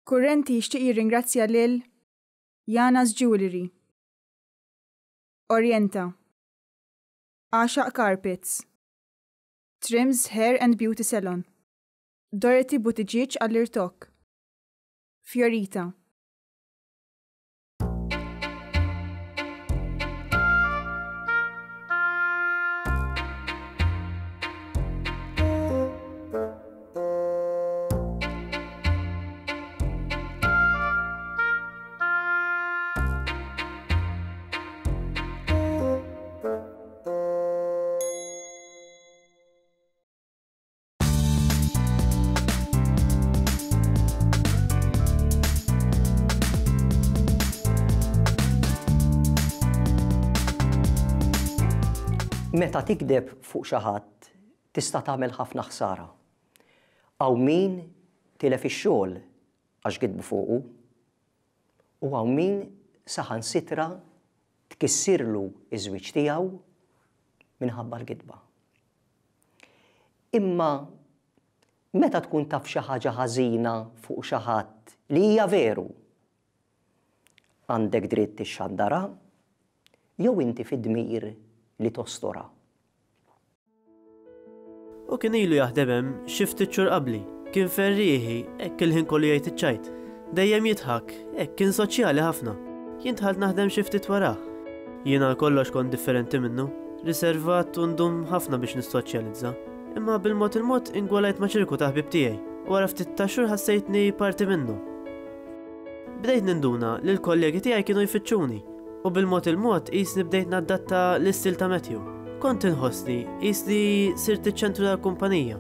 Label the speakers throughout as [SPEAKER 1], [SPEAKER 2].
[SPEAKER 1] Kurrenti jixtieq jirringrazzja lil Jana's Jewellery, Orienta, Għaxaq Carpets, Trims Hair and Beauty Salon, Dorothy Buttigieg għall-irtokk, Fiorita.
[SPEAKER 2] Meta tikdeb fuq xi ħadd tista' tagħmel ħafna ħsara. Hawn min tilef ix-xogħol għax gidbu fuqu u hawn min saħansitra tkissirlu ż-żwieġ tiegħu minħabba l-gidba. Imma meta tkun taf xi ħaġa ħażina fuq xi ħadd li hija veru, għandek dritt tixxandarha jew inti fid-dmir li tostorha?
[SPEAKER 3] Hu kien ilu jaħdem hemm xi ftit xhur qabli. Kien ferrieħi, hekk il-ħin kollu jgħid iċ-ċajt. Dejjem jidħak, hekk kien soċjali ħafna. Jien dħalt naħdem xi ftit warah. Jien għal kollox kont differenti minnu, riservat u ndum ħafna biex nissoċjalizza. Imma bil-mod il-mod ingwalajt ma' ċirku ta' ħbieb tiegħi u wara ftit ta' xhur ħassejtni parti minnhom. Bdejt ninduna li l-kollegi tiegħi kienu jfittxuni u bil-mod il-mod qisni bdejt naddatta l-istil ta' Matthew. Kont inħossni qisni sirt iċ-ċentru tal-kumpanija.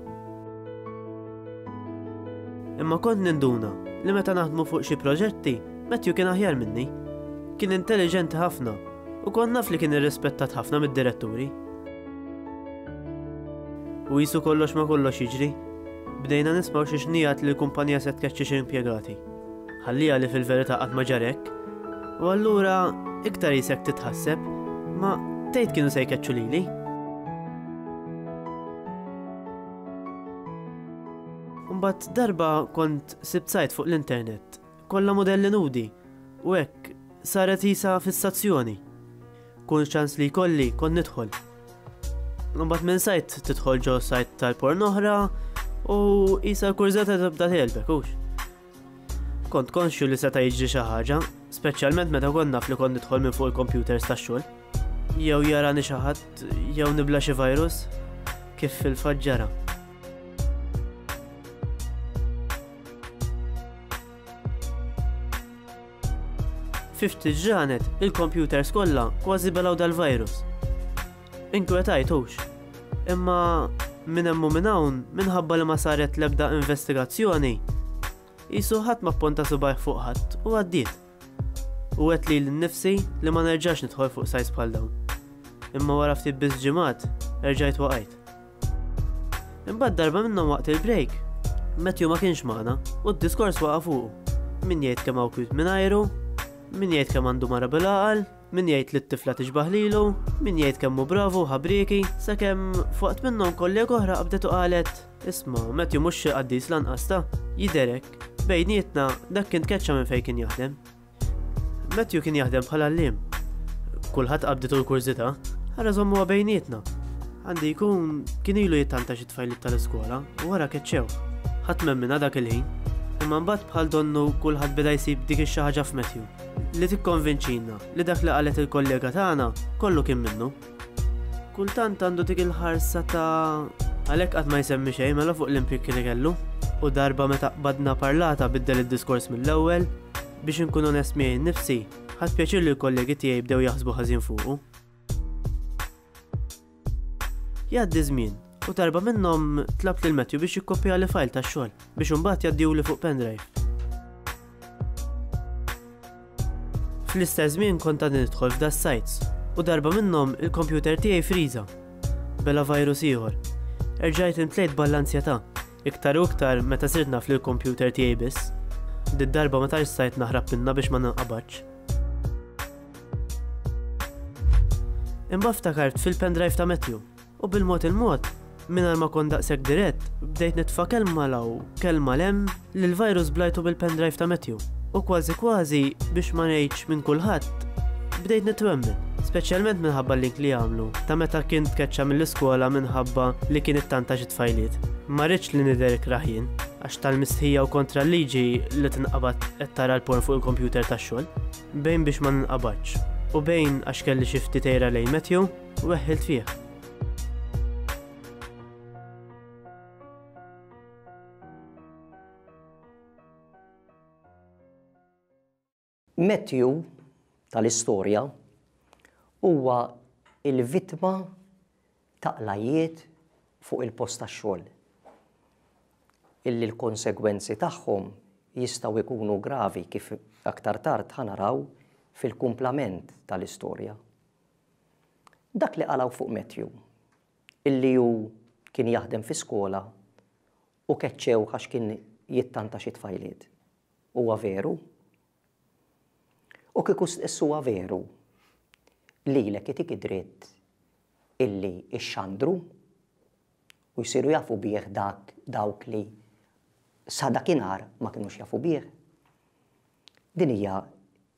[SPEAKER 3] Imma kont ninduna li meta naħdmu fuq xi proġetti, Matthew kien aħjar minni. Kien intelliġenti ħafna u kont naf li kien irrispettat ħafna mid-diretturi. U qisu kollox ma kollox jiġri, bdejna nismgħu xi xnigħat li l-kumpanija se tkeċċi xi impjegati. Ħalliha li fil-verità qatt ma ġara hekk. U allura iktar qisek titħasseb, ma tgħid kienu se jkeċċu lili? Imbagħad darba kont sibt sajt fuq l-internet, kollha mudelli nudi, u hekk saret qisha fissazzjoni. Kull ċans li jkolli kont nidħol. Imbagħad minn sajt tidħol ġo sajt tal-porn oħra u qisha l-kurżità tibda tgħelbek hux. Kont konxju li seta' jiġri xi ħaġa, speċjalment meta kont naf li kont nidħol minn fuq il-computers tax-xogħol. Jew jarani xi ħadd jew nibla xi virus, kif fil-fatt ġara. Fi ftit ġranet, il-computers kollha kważi belgħu dal-virus. Inkwetajt hux. Imma minn hemm u minn hawn, minħabba li ma saret l-ebda investigazzjoni, qisu ħadd ma pponta subgħajh fuq ħadd u għaddiet. U għedt lili nnifsi li ma nerġax nidħol fuq sites bħal dawn. Imma wara ftit biss ġimgħat, erġajt waqajt. Imbagħad darba minnhom waqt il-break, Matthew ma kienx magħna u d-diskors waqa' fuqu. Min jgħid kemm hawn kwiet mingħajru, min jgħid kemm għandu mara bil-għaqal, min jgħid li t-tifla tixbah lilu, min jgħid kemm hu bravu u ħabrieki, sakemm f'waqt minnhom kollega oħra qabdet u qalet, Isma', Matthew mhux xi qaddis lanqas ta', jidher hekk. Bejnietna, dak kien tkeċċa minn fejn kien jaħdem. Matthew kien jaħdem bħala għalliem. Kulħadd qabditu l-kurżità, ara żommuha bejnietna. Għandi jkun kien ilu jittanta xi tfajliet tal-iskola u wara keċċew. Ħadd m'emminha dak il-ħin. Imma mbagħad bħal donnu kulħadd beda jsib dik ix-xi ħaġa f'Matthew li tikkonvinċina li dak li qalet il-kollega tagħna kollu kien minnu. Kultant għandu dik il-ħarsa ta' għalhekk qatt ma jsemmi xejn mela fuq l-impjieg li kellu. U darba meta qbadna parlata biddel id-diskors mill-ewwel, biex inkun onest miegħi nnifsi, ħadt pjaċir li l-kollegi tiegħi bdew jaħsbu ħażin fuqu. Jgħaddi żmien, u darba minnhom tlabt lil Matthew biex jikkopjali file tax-xogħol biex imbagħad jgħaddihuli fuq pendrive. Fl-istess żmien kont għadni nidħol f'da sites u darba minnhom il-kompjuter tiegħi friża. Bela virus ieħor. Erġajt imtlejt ball-anzjetà, iktar u iktar meta sirt naf li l-kompjuter tiegħi biss. Did-darba ma tantx stajt naħrab minnha biex ma ninqabadx. Imbagħad ftakart fil-pendrive ta' Matthew u bil-mod il-mod. Mingħajr ma kont daqshekk dirett, bdejt nitfa' kelma 'l hawn, kelma 'l hemm li l-virus blajtu bil-pendrive ta' Matthew. U kważi kważi, biex ma ngħidx minn kulħadd, bdejt nitwemmen, speċjalment minħabba l-link li għamlu ta' meta kien tkeċċa mill-iskola minħabba li kien ittanta xi tfajliet. Ma ridtx li nidher ikrah jien, għax tal-mistħija u kontra l-liġi li tinqabad qed tara l-porn fuq il-kompjuter tax-xogħol. Bejn biex ma ninqabadx u bejn għax kelli xi ftit għira lejn Matthew, weħħilt fih.
[SPEAKER 2] Matthew tal-istorja huwa l-vittma ta' qlajjiet fuq il-post tax-xogħol illi l-konsegwenzi tagħhom jistgħu jkunu gravi kif aktar tard ħa naraw fil-kumplament tal-istorja. Dak li qalgħu fuq Matthew, illi hu kien jaħdem fi skola u keċċewh għax kien jittanta xi tfajliet. Huwa veru? U kieku stess huwa veru, lilek itik id-dritt illi ixxandru u jsiru jafu bih dak dawk li sa dakinhar ma kinux jafu bih? Din hija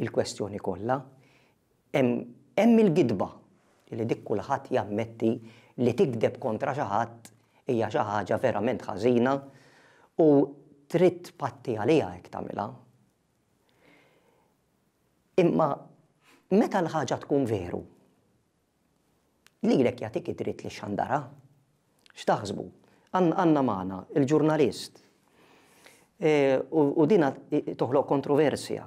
[SPEAKER 2] l-kwestjoni kollha. Hemm il-gidba li dik kulħadd jammetti li tigdeb kontra xi ħadd hija xi ħaġa verament ħażina u trid tpatti għaliha jekk tagħmilha. Imma meta l-ħaġa tkun veru, Lilek jagħtik id-dritt li xxandarha. X'taħsbu? Għandna magħna il-ġurnalist. E, u dina toħloq kontroversja.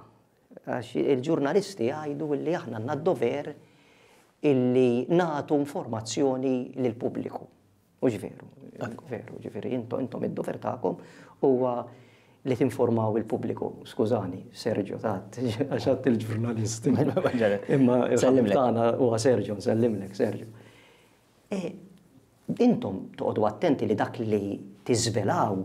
[SPEAKER 2] Għax il-ġurnalisti jgħidu li aħna għandna d-dover illi nagħtu informazzjoni lill-pubbliku. Mhux veru, veru, ġifieri intom intom id-dover tagħkom huwa li tinformaw il-pubbliku. Skużani, Sergio tat, għax għadt il-ġurnalist. Imma il-ħabib tagħna huwa Sergio, nsellimlek Sergio. E, intom toqgħodu attenti li dak li tiżvelaw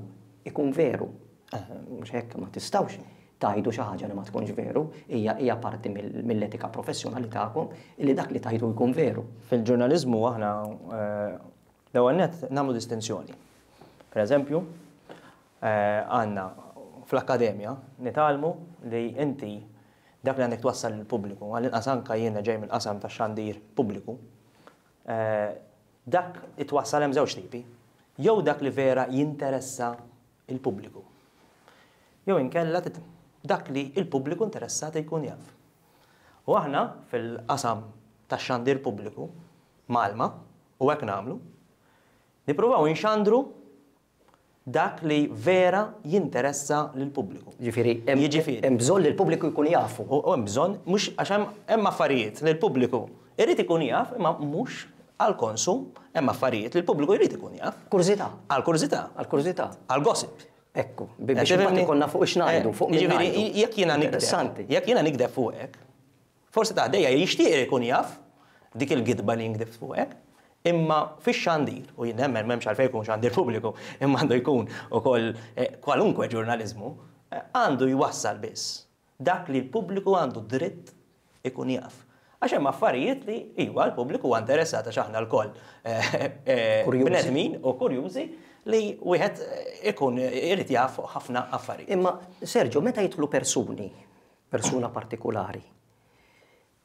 [SPEAKER 2] ikun veru. Eh, mhux hekk ma tistgħux tgħidu xi ħaġa li ma tkunx veru, hija hija parti mill-etika professjonali tagħkom li dak li tgħidu jkun veru.
[SPEAKER 4] Fil-ġurnaliżmu aħna eh, l-ewwel nett nagħmlu distinzjoni. Per eżempju, eh, għandna fl-akkademja nitgħallmu li inti dak li għandek twassal lill-pubbliku, għall-inqas anka jiena ġej mill-qasam tax-xandir pubbliku, eh, dak itwassal hemm żewġ tipi. Jew dak li vera jinteressa il-pubbliku. Jew inkella dak li l-pubbliku interessat jkun jaf. U aħna fil-qasam tax-xandir pubbliku, Malma, u hekk nagħmlu, nippruvaw inxandru dak li vera jinteressa lill-pubbliku.
[SPEAKER 2] Jiġifieri hemm bżonn li l-pubbliku jkun jafu.
[SPEAKER 4] U hemm bżonn mhux għax hemm affarijiet li l-pubbliku irid ikun jaf imma mhux Għall-konsum, hemm affarijiet li l-pubbliku jrid ikun jaf.
[SPEAKER 2] Kurżità.
[SPEAKER 4] Għall-kurżità.
[SPEAKER 2] Għall-kurżità.
[SPEAKER 4] Għall-gossip.
[SPEAKER 2] Ekku, biex imbagħad ikollna fuq x'ngħidu, fuq min
[SPEAKER 4] ngħidu. Jiġifieri jekk jiena nigdeb, jekk jiena nigdeb fuqek, forsi ta' ħdejja jixtieq ikun jaf dik il-gidba li jien gdibt fuqek, imma fix-xandir, u jien nemmen m'hemmx għalfejn ikun xandir pubbliku, imma għandu jkun ukoll kwalunkwe ġurnaliżmu, għandu jwassal biss Dak li l-pubbliku għandu dritt ikun jaf. Għax hemm affarijiet li iva l-pubbliku huwa interessat għax aħna lkoll bnedmin u kurjużi li wieħed ikun irid jaf ħafna affarijiet.
[SPEAKER 2] Imma Sergio, meta jidħlu persuni, persuna partikulari,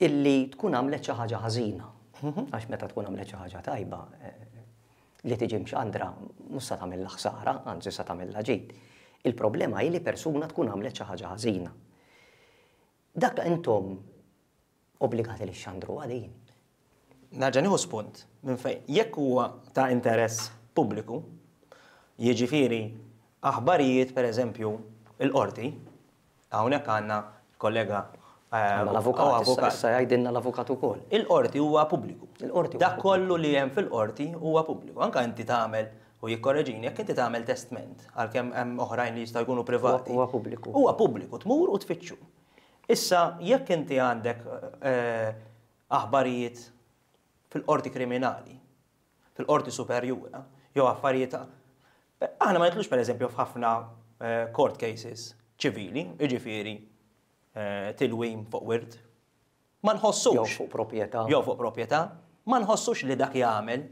[SPEAKER 2] illi tkun għamlet xi ħaġa ħażina, għax meta tkun għamlet xi ħaġa tajba, li tiġi mxandra mhux sa tagħmilha ħsara, anzi sa tagħmilha ġid. Il-problema hi li persuna tkun għamlet xi ħaġa ħażina. Dak intom obbligati li xxandruha din.
[SPEAKER 4] Nerġa' nieħu spunt minn fejn jekk huwa ta' interess pubbliku, jiġifieri aħbarijiet pereżempju l-qorti, Hawnhekk għandna kollega
[SPEAKER 2] eh, l-avukat, issa jgħidilna l-avukat ukoll.
[SPEAKER 4] Il-qorti huwa pubbliku. Il-qorti Dak kollu li hemm fil-qorti huwa pubbliku. Anka inti tagħmel u jikkorreġini jekk inti tagħmel testment għalkemm hemm oħrajn li jistgħu jkunu privati.
[SPEAKER 2] Huwa pubbliku.
[SPEAKER 4] Huwa pubbliku, tmur u tfittxu. Issa jekk inti għandek eh, aħbarijiet fil-qorti kriminali fil-Qorti Superjura, jew affarijiet Aħna ma nitlux pereżempju f'ħafna eh, court cases ċivili, jiġifieri eh, tilwim fuq wirt. Ma nħossux.
[SPEAKER 2] Jew fuq proprjetà.
[SPEAKER 4] Jew fuq proprjetà. Ma nħossux li dak jagħmel.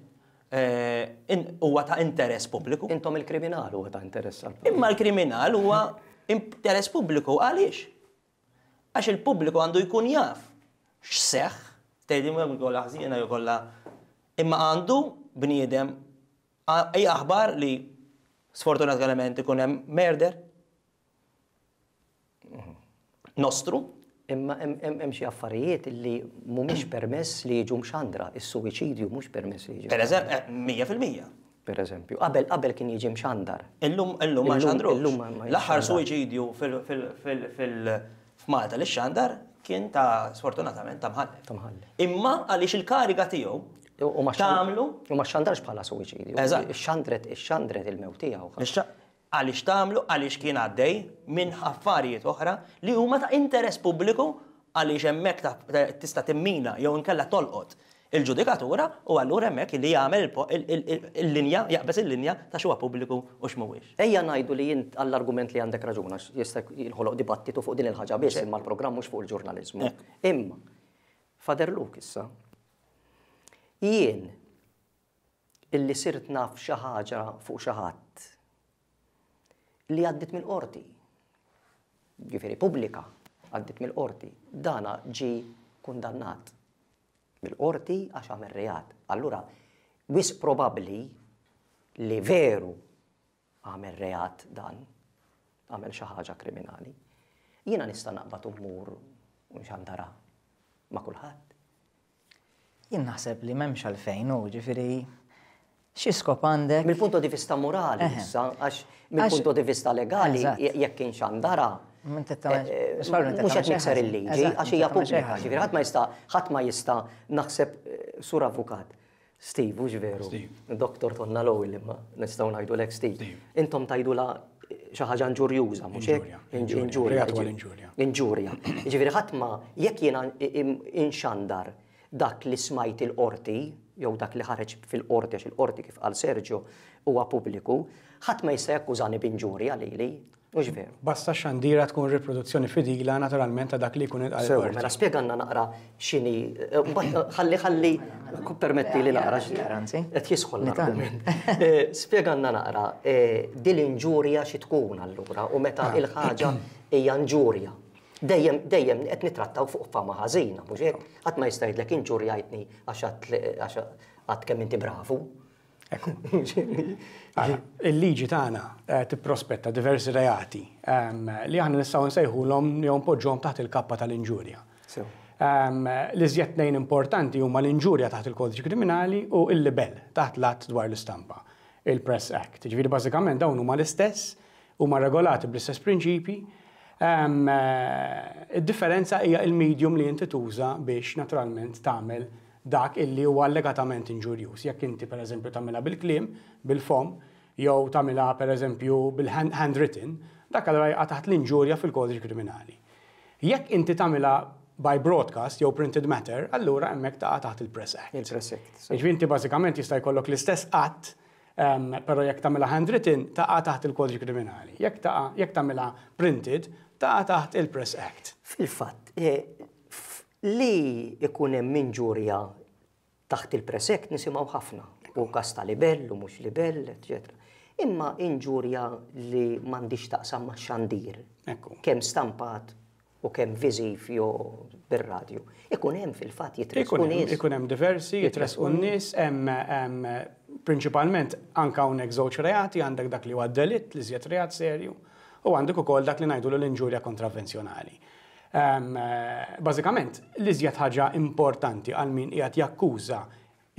[SPEAKER 4] Huwa ta' interess pubbliku.
[SPEAKER 2] Intom il-kriminal huwa ta' interess għall-pubbliku.
[SPEAKER 4] Imma l-kriminal huwa interess pubbliku għaliex? Għax il-pubbliku għandu jkun jaf x'seħħ, tgħidli mhux kollha ħżiena jew kollha imma għandu bniedem hija aħbar li sfortunatament ikun hemm murder nostru.
[SPEAKER 2] Imma hemm xi affarijiet li mhumiex permess li jiġu mxandra, is-suwiċidju mhux permess li jiġi.
[SPEAKER 4] Per eżempju, 100%.
[SPEAKER 2] Per eżempju, qabel qabel kien jiġi mxandar.
[SPEAKER 4] Illum illum ma xandrux. L-aħħar suwiċidju fil-F'Malta li xandar kien ta' sfortunatament ta' mħallef.
[SPEAKER 2] Ta' mħallef.
[SPEAKER 4] Imma għaliex il-kariga tiegħu tagħmlu.
[SPEAKER 2] U ma xandarx bħala suwiċidju.
[SPEAKER 4] Eżatt.
[SPEAKER 2] Xandret ixxandret il-mewt tiegħu.
[SPEAKER 4] Għaliex tagħmlu? Għaliex kien għaddej minn affarijiet oħra li huma ta' interess pubbliku għaliex hemmhekk tista' timmina jew inkella tolqot il-ġudikatura u allura hemmhekk li jagħmel il-linja, jaqbeż il-linja ta' x'huwa pubbliku u x'mhuwiex.
[SPEAKER 2] Ejja ngħidu li int għall-argument li għandek raġun għax jista' jinħoloq dibattitu fuq din il-ħaġa biss imma l-programm mhux fuq il-ġurnaliżmu. Imma, Father Luke issa, jien illi sirt naf xi ħaġa fuq xi ħadd li għaddiet mill-qorti, ġifieri pubblika għaddiet mill-qorti, dana ġie kundannat mill-qorti għax għamel reat. Allura, wisq probabbli li veru għamel reat dan, għamel xi ħaġa kriminali. Jiena nista' naqbad u mmur u nxandarha ma' kulħadd.
[SPEAKER 5] Jien naħseb li m'hemmx għalfejn hu, ġifieri xi skop għandek.
[SPEAKER 2] Mill-punto di vista morali issa, għax mill-punto di vista legali jekk inxandarha
[SPEAKER 5] Mhux
[SPEAKER 2] qed nikser il-liġi għax hija pubblika, ġifieri ħadd ma jista' ħadd ma jista' naħseb sur avukat. Steve, hux veru?
[SPEAKER 6] Steve.
[SPEAKER 2] Doktor Tonna Lowell imma nistgħu ngħidulek Steve. Intom tgħidulha xi ħaġa inġurjuża, mhux hekk?
[SPEAKER 6] Inġurja.
[SPEAKER 2] Inġurja.
[SPEAKER 6] Reat huwa l-inġurja.
[SPEAKER 2] Inġurja. Jiġifieri ħadd ma jekk jiena inxandar dak li smajt il-qorti jew dak li ħareġ fil-qorti għax il-qorti kif qal Sergio huwa pubbliku, ħadd ma jista' jakkużani b'inġurja lili. Mhux veru?
[SPEAKER 6] Basta x-xandira tkun riproduzzjoni fidila naturalment ta' dak li jkun intqal
[SPEAKER 2] Sew,
[SPEAKER 6] il-qorti.
[SPEAKER 2] mela spjegalna naqra x'inhi, mbagħad ħalli ħalli permettili naqra qed jisħon l-argument. Spjegalna naqra din l-inġurja xi tkun allura u meta l-ħaġa hija inġurja. Dejjem dejjem qed nittrattaw fuq fama ħażina, mhux hekk? Ħadd ma jista' jgħidlek inġurjajtni għax għadt għax għadt kemm inti bravu.
[SPEAKER 6] Ekku. Ara, il-liġi tagħna eh, tipprospetta diversi reati ehm, li aħna nistgħu nsejħulhom jew npoġġuhom taħt il-kappa tal-inġurja. Ehm, l-iżjed tnejn importanti huma l-inġurja taħt il-kodiċi kriminali u l-libel taħt l-att dwar l-istampa, il-Press Act. Ġifieri bażikament dawn huma l-istess, huma regolati bl-istess prinċipji. Ehm, eh, id-differenza hija il-medium li inti tuża biex naturalment tagħmel dak illi huwa allegatament inġurjuż. Jekk inti pereżempju tagħmilha bil-kliem, bil-fomm, jew tagħmilha pereżempju bil-handwritten, dak allura jaqa' taħt l-inġurja fil-Kodiċi Kriminali. Jekk inti tagħmilha by broadcast jew printed matter, allura hemmhekk taqa' taħt il-Press Act.
[SPEAKER 2] Il-Press Act.
[SPEAKER 6] Jiġifieri inti bażikament jista' jkollok l-istess att, però jekk tagħmilha handwritten taqa' taħt il-Kodiċi Kriminali. Jekk taqa' jekk tagħmilha printed taqa' taħt il-Press Act.
[SPEAKER 2] Fil-fatt, Li jkun hemm inġurja taħt il-Press Act nisimgħu ħafna, u każ ta' libell u mhux libell, eċċetera. Imma inġurja li m'għandhiex x'taqsam max-xandir, kemm stampat u kemm viżiv jew bir-radju, ikun hemm fil-fatt jitressqu nies.
[SPEAKER 6] Ikun hemm diversi, jitressqu n-nies, hemm prinċipalment anke hawnhekk żewġ reati, għandek dak li huwa delitt, l-iżjed reat serju, u għandek ukoll dak li ngħidulu l-inġurja kontravvenzjonali. Bażikament, l-iżjed ħaġa importanti għal min qiegħed jakkuża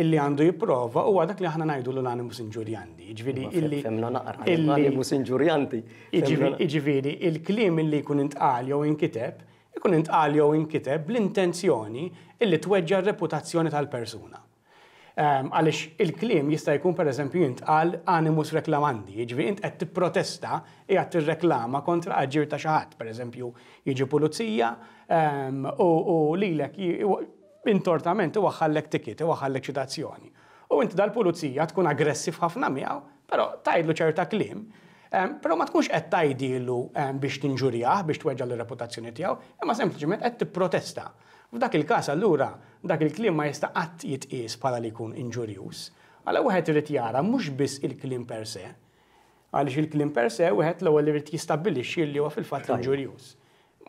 [SPEAKER 6] illi għandu jipprova huwa dak li aħna ngħidulu l-animus injuriandi. Jiġifieri illi.
[SPEAKER 2] Fehmna naqra, l-animus injuriandi.
[SPEAKER 6] Jiġifieri il-kliem illi jkun intqal jew inkiteb, ikun intqal jew inkiteb bl-intenzjoni illi tweġġa' r-reputazzjoni tal-persuna. Għaliex il-kliem jista' jkun pereżempju jintqal animus reclamandi, jiġifieri int qed tipprotesta, qiegħed tirreklama kontra aġir ta' xi ħadd, pereżempju jiġi pulizija u lilek intortament iwaħħallek ticket, iwaħħallek ċitazzjoni. U inti dal-pulizija tkun aggressiv ħafna miegħu, però tgħidlu ċerta kliem, però ma tkunx qed tgħidilu biex tinġurjah, biex tweġġa' l-reputazzjoni tiegħu, imma sempliċement qed tipprotesta. F'dak il-każ allura, dak il-kliem ma jista' qatt jitqies bħala li jkun inġurjuż. Għala wieħed irid jara mhux biss il-kliem per se, għaliex il-kliem per se wieħed l-ewwel irid jistabbilixxi li huwa fil-fatt inġurjuż.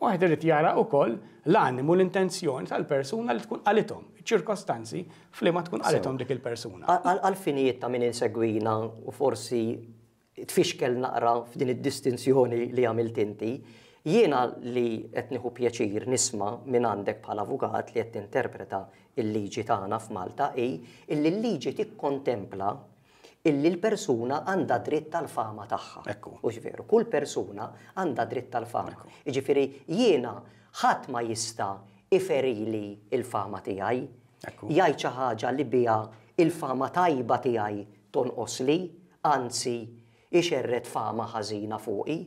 [SPEAKER 6] Wieħed irid jara wkoll l-animu l-intenzjoni tal-persuna li tkun qalithom, iċ-ċirkostanzi f'liema tkun qalithom dik il-persuna.
[SPEAKER 2] Għall-finijiet ta' min insegwina u forsi tfixkel naqra f'din id-distinzjoni li għamilt inti, jiena li qed nieħu pjaċir nisma' minn għandek bħala avukat li qed tinterpreta l-liġi tagħna f'Malta hi illi l-liġi tikkontempla illi l-persuna għandha dritt għall-fama tagħha.
[SPEAKER 6] Ekku.
[SPEAKER 2] Hux veru? Kull persuna għandha dritt għall-fama. Jiġifieri jiena ħadd ma jista' iferili l-fama tiegħi, jgħid xi ħaġa li biha l-fama tajba tiegħi tonqosli, anzi ixerred fama ħażina fuqi.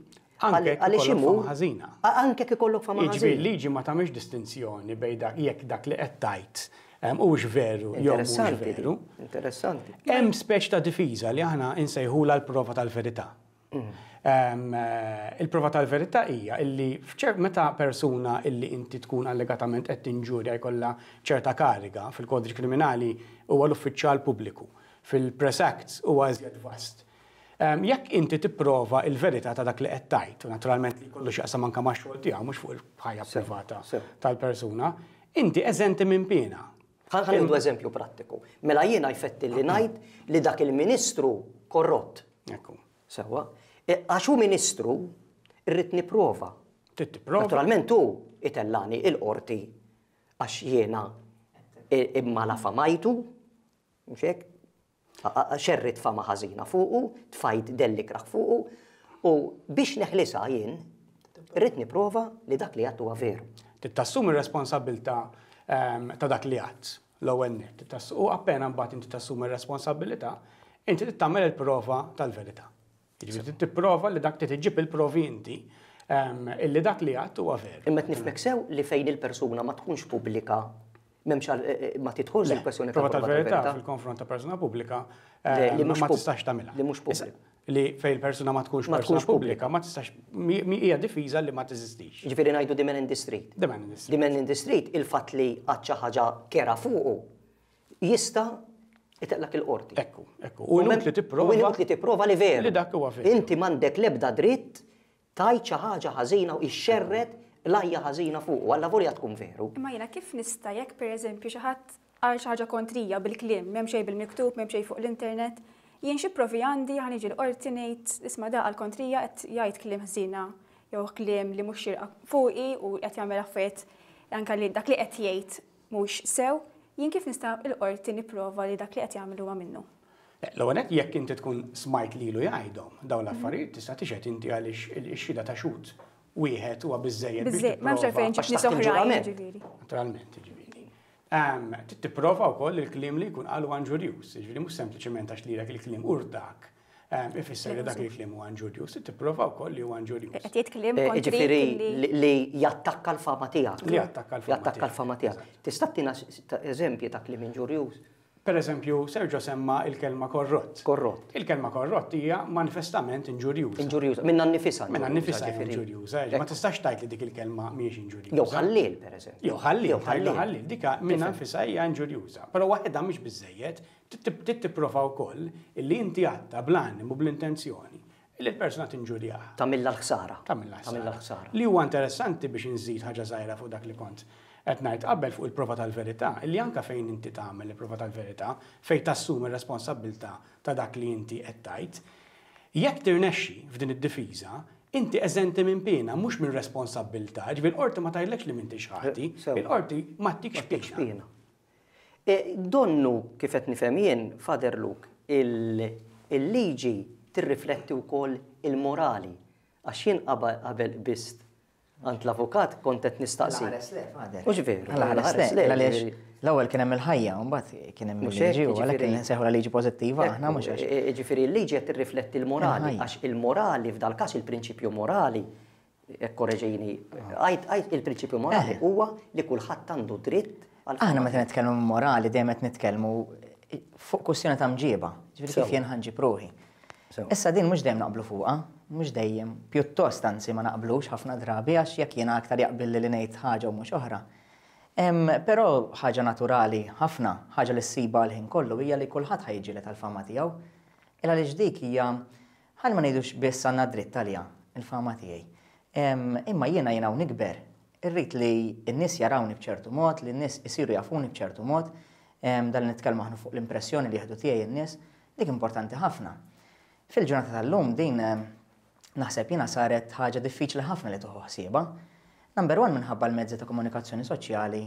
[SPEAKER 6] Anke jekk ikollok fama ħażina.
[SPEAKER 2] Anke jekk ikollok fama ħażina.
[SPEAKER 6] Jiġifieri l-liġi ma tagħmilx distinzjoni bejn dak jekk dak li qed tgħid huwiex veru jew mhux veru.
[SPEAKER 2] Interessanti.
[SPEAKER 6] Hemm speċi ta' difiża li aħna nsejħulha l-prova tal-verità. Il-prova tal-verità hija illi meta persuna illi inti tkun allegatament qed tinġurja jkollha ċerta kariga, fil-kodiċi kriminali huwa l-uffiċjal pubbliku, fil-Press Acts huwa iżjed vast. Jekk inti tipprova l-verità ta' dak li qed tgħid, u naturalment li jkollu x'jaqsam anke max-xogħol tiegħu mhux fuq il-ħajja privata tal-persuna, inti eżenti minn piena.
[SPEAKER 2] Ħa nieħdu eżempju prattiku. Mela jiena jfettilli ngħid li dak il-ministru korrott.
[SPEAKER 6] Ekku.
[SPEAKER 2] Sewwa. Għax hu ministru, irrid nipprova.
[SPEAKER 6] Trid tipprova.
[SPEAKER 2] Naturalment hu itellani il-qorti għax jiena immalafamajtu, mhux hekk? Xerridt fama ħażina fuqu, tfajt dell ikrah fuqu, u biex neħlisha jien, irrid nipprova li dak li għedt huwa veru.
[SPEAKER 6] Trid tassumi r-responsabbiltà ta' dak li għedt, l-ewwel nett. U appena mbagħad inti tassumi r-responsabbiltà, inti trid tagħmel il-prova tal-verità. Jiġifieri trid tipprova li dak trid iġġib il-provi inti illi dak li għedt huwa veru.
[SPEAKER 2] Imma qed nifhmek sew li fejn il-persuna ma tkunx pubblika m'hemmx ma tidħolx il-kwestjoni
[SPEAKER 6] ta' prova tal-verità fil-konfront ta' persuna pubblika ma tistax tagħmilha.
[SPEAKER 2] Li mhux pubblika.
[SPEAKER 6] Li fejn il-persuna ma tkunx persuna pubblika ma tistax hija difiża li ma teżistix.
[SPEAKER 2] Jiġifieri ngħidu the man in the street.
[SPEAKER 6] The man in the street.
[SPEAKER 2] The man in the street il-fatt li għad xi ħaġa kerha fuqu jista' jtellgħek il-qorti.
[SPEAKER 6] Ekku, ekku. U inutli tipprova.
[SPEAKER 2] U inutli tipprova li veru.
[SPEAKER 6] Li dak huwa veru.
[SPEAKER 2] Inti m'għandek l-ebda dritt tgħid xi ħaġa ħażina u xxerred qlajja ħażina fuqu, allavolja tkun veru.
[SPEAKER 1] Imma jiena kif nista' jekk pereżempju xi ħadd qal xi ħaġa kontrija bil-kliem, m'hemm xejn bil-miktub, m'hemm xejn fuq l-internet, jien xi provi għandi ħa niġi l-qorti ngħid isma' da qal kontrija qed jgħid kliem ħżiena jew kliem li mhux xierqa fuqi u qed jagħmel affarijiet anke li dak li qed jgħid mhux sew, jien kif nista' l-qorti nipprova li dak li qed jagħmel huwa minnu?
[SPEAKER 6] L-ewwel nett jekk inti tkun smajt lilu jgħidhom dawn l-affarijiet tista' tixhed inti għaliex ix-xhieda ta' xhud wieħed huwa biżżejjed biex
[SPEAKER 1] Biżżejjed, m'hemmx għalfejn
[SPEAKER 6] tipprova.
[SPEAKER 1] ġib nies oħrajn, jiġifieri.
[SPEAKER 6] Naturalment, jiġifieri. Trid tipprova wkoll li l-kliem li jkun qal huwa inġurjuż, jiġifieri mhux sempliċement għax lilek il-kliem urtak Ifisser li dak il-kliem huwa inġurjuż, tipprova wkoll li huwa inġurjuż.
[SPEAKER 1] Qed jgħid kliem kontrik
[SPEAKER 2] Jiġifieri li jattakka l-fama tiegħek.
[SPEAKER 6] Li jattakka l-fama.
[SPEAKER 2] Jattakka l-fama tiegħek. Tista' ttina eżempji ta' kliem inġurjuż?
[SPEAKER 6] Per eżempju, Sergio semma il-kelma korrott.
[SPEAKER 2] Korrott.
[SPEAKER 6] Il-kelma korrott hija manifestament inġurjuża.
[SPEAKER 2] Inġurjuża, minnha nnifisha.
[SPEAKER 6] Minnha nnifisha hija inġurjuża. Ma tistax tgħid li dik il-kelma mhijiex inġurjuża.
[SPEAKER 2] Jew ħalliel, per eżempju.
[SPEAKER 6] Jew ħalliel, tgħidlu ħalliel. Dik minnha nfisha hija inġurjuża. Però waħedha mhix biżżejjed, Trid tipprova wkoll illi inti għadtha bl-animu, bl-intenzjoni, illi l-persuna tinġurjaha.
[SPEAKER 2] Tagħmilha l-ħsara.
[SPEAKER 6] Tagħmilha l-ħsara.
[SPEAKER 2] Tagħmilha l-ħsara.
[SPEAKER 6] Li huwa interessanti biex inżid ħaġa żgħira fuq dak li kont qed ngħid qabel fuq il-prova tal-verità, illi anke fejn inti tagħmel il-prova tal-verità, fejn tassumi r-responsabbiltà ta' dak li inti qed tgħid, jekk tirnexxi f'din id-difiża, inti eżenti minn piena, mhux minn responsabbiltà, jiġifieri l-qorti ma tgħidlekx li m'intix ħati, il-qorti ma ttikx piena.
[SPEAKER 2] Donnu, kif qed nifhem jien, Father Luke, il-liġi tirrifletti wkoll il-morali. Għax jien qabel qbiżt għand l-avukat kont qed nistaqsi.
[SPEAKER 5] Alla ħares le, Father.
[SPEAKER 2] Mhux veru.
[SPEAKER 5] Alla ħares le, għaliex l-ewwel kien hemm il-ħajja u mbagħad kien hemm il-liġi u għalhekk insejħulha liġi pożittiva aħna mhux għax.
[SPEAKER 2] Jiġifieri l-liġi qed tirrifletti l-morali għax il-morali f'dal-każ il-prinċipju morali Korreġini, għid, għid il-prinċipju morali huwa li kulħadd għandu dritt għal.
[SPEAKER 5] Aħna meta nitkellmu morali dejjem qed nitkellmu fuq kwistjoni ta' mġieba, ġifieri kif jien ħanġib ruħi. Issa din mhux dejjem naqblu fuqha, mhux dejjem, pjuttost anzi ma naqblux ħafna drabi għax jekk jiena aktar jaqbilli li ngħid ħaġa u mhux oħra. Però ħaġa naturali ħafna, ħaġa li ssibha l-ħin kollu hija li kulħadd ħa jiġġieled għall-fama tiegħu. Il għaliex dik hija, ħalli ma ngħidux biss għandna dritt għaliha, il-fama tiegħi. Imma jiena jien hawn nikber, irrid li n-nies jarawni b'ċertu mod, li n-nies isiru jafuni b'ċertu mod, dan li nitkellmu aħna fuq l-impressjoni li jieħdu tiegħi n-nies, dik importanti ħafna. Fil-ġurnata tal-lum din naħseb jiena saret ħaġa diffiċli ħafna li tieħu ħsiebha. Number one minħabba l-mezzi ta' komunikazzjoni soċjali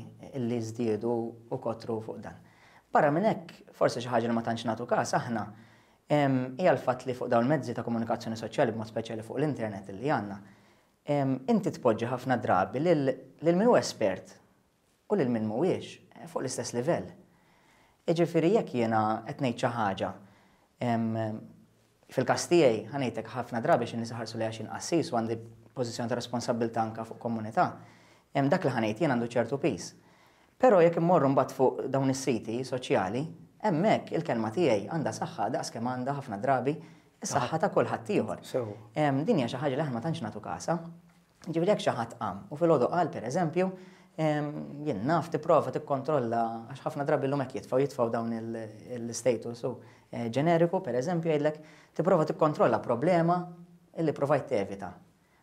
[SPEAKER 5] li żdiedu u kotru fuq dan. Barra minn hekk, forsi xi ħaġa li ma tantx nagħtu każ aħna, hija l-fatt li fuq dawn il-mezzi ta' komunikazzjoni soċjali b'mod speċjali fuq l-internet li għandna, inti tpoġġi ħafna drabi lil min hu espert u lil min mhuwiex fuq l-istess livell. Jiġifieri jekk jiena qed ngħid xi ħaġa, fil-każ tiegħi, ħa ngħidlek ħafna drabi għax in-nies iħarsu lejja xi nqassis u għandi pożizzjoni ta' responsabbiltà anke fuq komunità, dak li ħa ngħid jien għandu ċertu piż. Però jekk immorru mbagħad fuq dawn is-siti soċjali, hemmhekk il-kelma tiegħi għandha saħħa daqs kemm għandha ħafna drabi s-saħħa ta' kulħadd ieħor. Din hija xi ħaġa li aħna ma tantx nagħtu kasha. Ġifieri jekk xi ħadd qam u filgħodu qal pereżempju, jien naf tipprova tikkontrolla għax ħafna drabi llum hekk jitfgħu jitfgħu dawn il-status u eh, ġeneriku pereżempju jgħidlek tipprova tikkontrolla problema illi provajt tevita.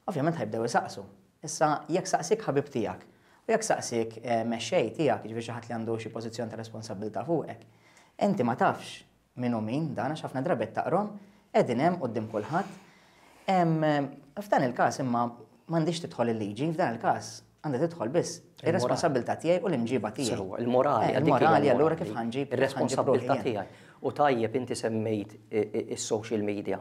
[SPEAKER 5] Ovvjament ħajbdew isaqsu. Issa jekk saqsik ħabib tiegħek u jekk saqsik eh, mexxej tiegħek, jiġifieri xi ħadd li għandu xi pożizzjoni ta' responsabilità fuqek, inti ma tafx Min hu min, dan għax ħafna drabi qed taqrahom, qegħdin hemm quddiem kulħadd. F'dan il-każ imma m'għandhiex tidħol il-liġi, f'dan il-każ għandha tidħol biss ir-responsabbiltà tiegħi u l-imġiba tiegħi.
[SPEAKER 2] Sewwa, il-morali.
[SPEAKER 5] Eh, il-morali allura kif ħanġib.
[SPEAKER 2] Ir-responsabbiltà tiegħi. U tajjeb inti semmejt is-social media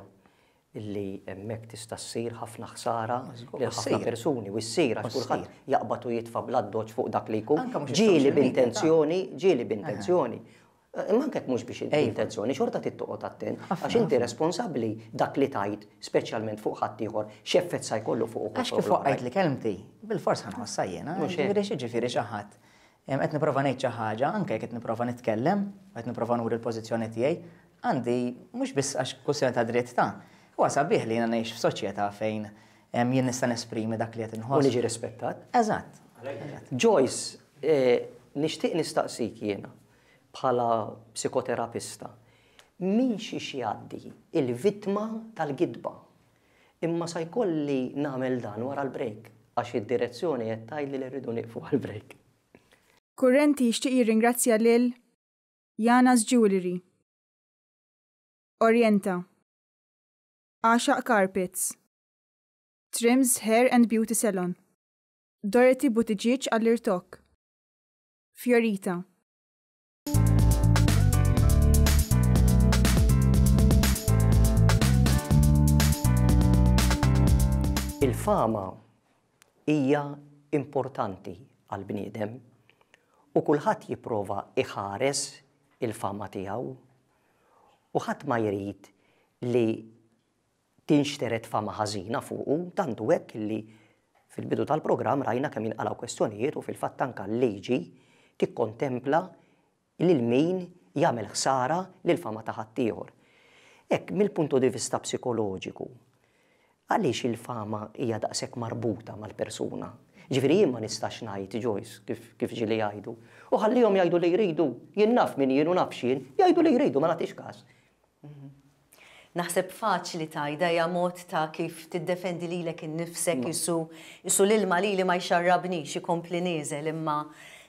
[SPEAKER 2] illi hemmhekk tista' ssir ħafna ħsara lil ħafna persuni u ssir għax kulħadd jaqbad u jitfa' bl-addoċċ fuq dak li jkun. Ġieli b'intenzjoni, ġieli b'intenzjoni. Imma anke jekk mhux biex intenzjoni, xorta trid toqgħod attent għax inti responsabbli dak li tgħid, speċjalment fuq ħaddieħor, x'effett sa jkollu fuq
[SPEAKER 5] uħud. Għax kif waqqajtli kelmti, bilfors ħa nħossha jiena. Jiġifieri x'jiġifieri xi ħadd qed nipprova ngħid xi ħaġa, anke jekk qed nipprova nitkellem, qed nipprova nuri l-pożizzjoni tiegħi, għandi mhux biss għax kwistjoni ta' dritt ta', huwa sabiħ li jiena ngħix f'soċjetà fejn jien nista' nesprimi dak li qed inħoss.
[SPEAKER 2] U niġi rispettat.
[SPEAKER 5] Eżatt.
[SPEAKER 2] Joyce, nixtieq nistaqsik jiena. Bħala psikoterapista, minn xiex jgħaddi il-vittma tal-gidba. Imma sa jkolli nagħmel dan wara l-break, għax id-direzzjoni qed tgħidli li rridu nieqfu għall-break.
[SPEAKER 1] Kurrenti jixtieq jirringrazzja lil Jana's Jewellery, Orienta, Għaxaq Carpets, Trims Hair and Beauty Salon, Dorothy Buttigieg għall-irtokk, Fiorita.
[SPEAKER 2] Il-fama hija importanti għall-bniedem u kulħadd jipprova jħares il-fama tiegħu u ħadd ma jrid li tinxtered fama ħażina fuqu, tant hu hekk li fil-bidu tal-programm rajna kemm jinqalgħu kwestjonijiet u fil-fatt anke l-liġi tikkontempla lil min jagħmel ħsara lill-fama ta' ħaddieħor. Hekk mill-punto di vista psikoloġiku, għaliex il-fama hija daqshekk marbuta mal-persuna? Ġifieri jien ma nistax ngħid, Joyce, kif kif ġieli jgħidu, u ħallihom jgħidu li jridu, jien naf min jien u naf x'jien, jgħidu li jridu ma nagħtix każ.
[SPEAKER 7] Naħseb faċli tgħidha hija mod ta' kif tiddefendi lilek innifsek qisu qisu l-ilma lili ma jxarrabnix ikompli nieżel imma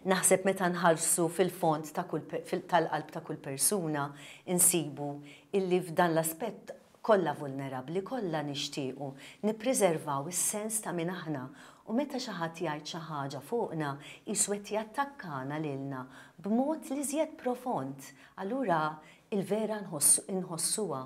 [SPEAKER 7] naħseb meta nħarsu fil-fond ta' kull tal-qalb ta' kull persuna nsibu illi f'dan l-aspett kollha vulnerabbli, kollha nixtiequ nippriservaw is-sens ta' min aħna u meta xi ħadd jgħid xi ħaġa fuqna qisu qed jattakkana lilna b'mod l-iżjed profond. Allura Il-vera nħossuha.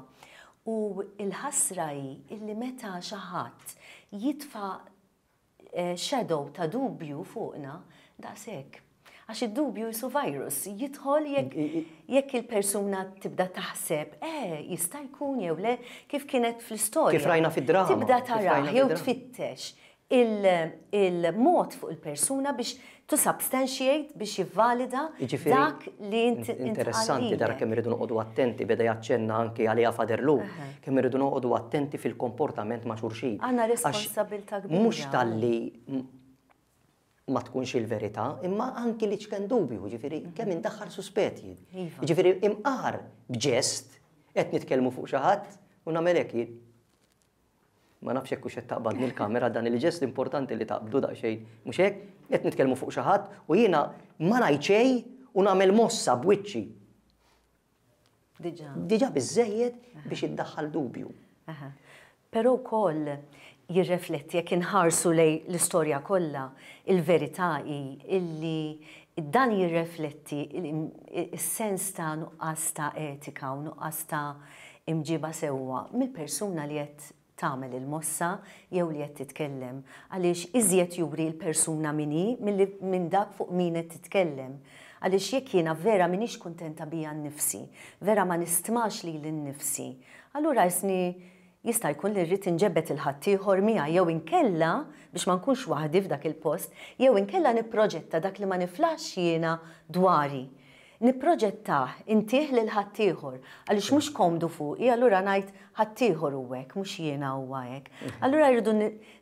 [SPEAKER 7] U l-ħasra hi illi meta xi ħadd jitfa' shadow ta' dubju fuqna, daqshekk. Għax id-dubju jisu virus, jidħol jekk jekk il-persuna tibda taħseb, eh, jista' jkun jew le, kif kienet fl-istorja.
[SPEAKER 2] Kif rajna fid-drama.
[SPEAKER 7] Tibda tarah jew tfittex il-mod fuq il-persuna biex to substantiate, biex jivvalida dak li int
[SPEAKER 2] Interessanti dara kemm irridu noqogħdu attenti, beda jaċċenna anki għaliha Father Lou, kemm irridu noqogħdu attenti fil-komportament ma' xulxin.
[SPEAKER 7] Għandna responsabilità kbira.
[SPEAKER 2] Mhux talli. ma tkunx il-verità, imma anki l-iċken dubju, ġifieri kemm indaħħal suspett jien.
[SPEAKER 7] Iva.
[SPEAKER 2] Ġifieri imqar b'ġest qed nitkellmu fuq xi ħadd u nagħmel hekk jien. Ma nafx jekk hux qed taqbadni l-kamera dan il-ġest importanti li taqbdu daqsxejn, mhux hekk? Qed nitkellmu fuq xi ħadd u jiena ma ngħid xejn u nagħmel mossa b'wiċċi.
[SPEAKER 7] Diġà.
[SPEAKER 2] Diġà biżżejjed biex iddaħħal dubju.
[SPEAKER 7] Però wkoll jirrefletti jekk inħarsu lejn l-istorja kollha, il-verità hi illi dan jirrefletti s-sens ta' nuqqas ta' etika u nuqqas ta' imġiba sewwa mill-persuna li qed tagħmel il-mossa jew li qed titkellem, għaliex iżjed juri l-persuna min hi milli minn dak fuq min qed titkellem. Għaliex jekk jiena vera m'iniex kuntenta bija nnifsi, vera ma nistmax lili nnifsi, allura qisni jista' jkun li rrid inġebbed 'il ħaddieħor miegħi jew inkella, biex ma nkunx waħdi f'dak il-post, jew inkella nipproġetta dak li ma niflaħx jiena dwari. Nipproġettah, intih lil ħaddieħor, għaliex mhux komdu fuqi, allura ngħid ħaddieħor hu hekk, mhux jiena huwa hekk. Allura rridu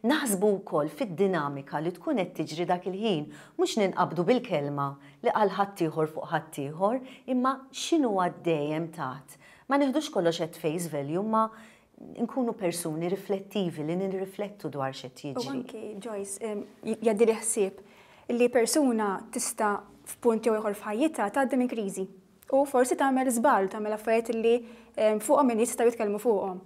[SPEAKER 7] naħsbu wkoll fid-dinamika li tkun qed tiġri dak il-ħin, mhux ninqabdu bil-kelma li qal ħaddieħor fuq ħaddieħor, imma x'inhu għaddej hemm taħt. Ma neħdux kollox at face value, imma nkunu persuni riflettivi li nirriflettu dwar x'qed jiġri.
[SPEAKER 1] U anki, Joyce, jgħaddili ħsieb li persuna tista' f'punt jew ieħor f'ħajjitha tgħaddi minn kriżi u forsi tagħmel żball, tagħmel affarijiet li fuqhom in-nies jistgħu jitkellmu fuqhom.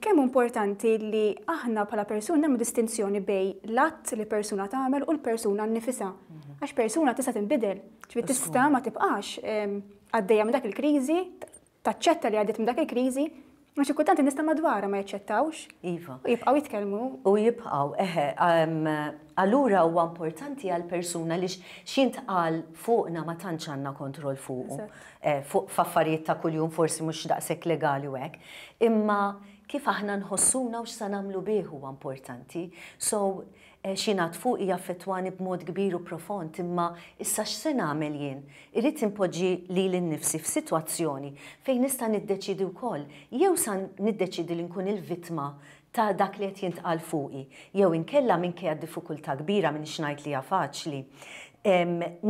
[SPEAKER 1] Kemm hu importanti li aħna bħala persuni nagħmlu distinzjoni bejn l-att li persuna tagħmel u l-persuna nnifisha. Għax persuna tista' tinbidel, ġifieri tista' ma tibqax għaddejja minn dak il-kriżi, taċċetta li għaddiet minn dak il-kriżi, għax xi kultant in-nies ta' madwarha ma jaċċettawx.
[SPEAKER 7] Iva.
[SPEAKER 1] U jibqgħu jitkellmu.
[SPEAKER 7] U jibqgħu, eħe. Allura huwa importanti għal persuna li x'jintqal fuqna ma tantx għandna kontroll fuqu. Fuq f'affarijiet ta' kuljum forsi mhux daqshekk legali u hekk. Imma kif aħna nħossuna u x'sa nagħmlu bih huwa importanti. So, X'jingħad fuqi jaffettwani b'mod kbir u profond, imma issa x'se nagħmel jien? Irrid inpoġġi lili nnifsi f'sitwazzjoni fejn nista' niddeċiedi wkoll. Jew sa niddeċiedi li nkun il-vittma ta' dak li qed jintqal fuqi, jew inkella minkejja d-diffikultà kbira, m'iniex ngħid li hija faċli,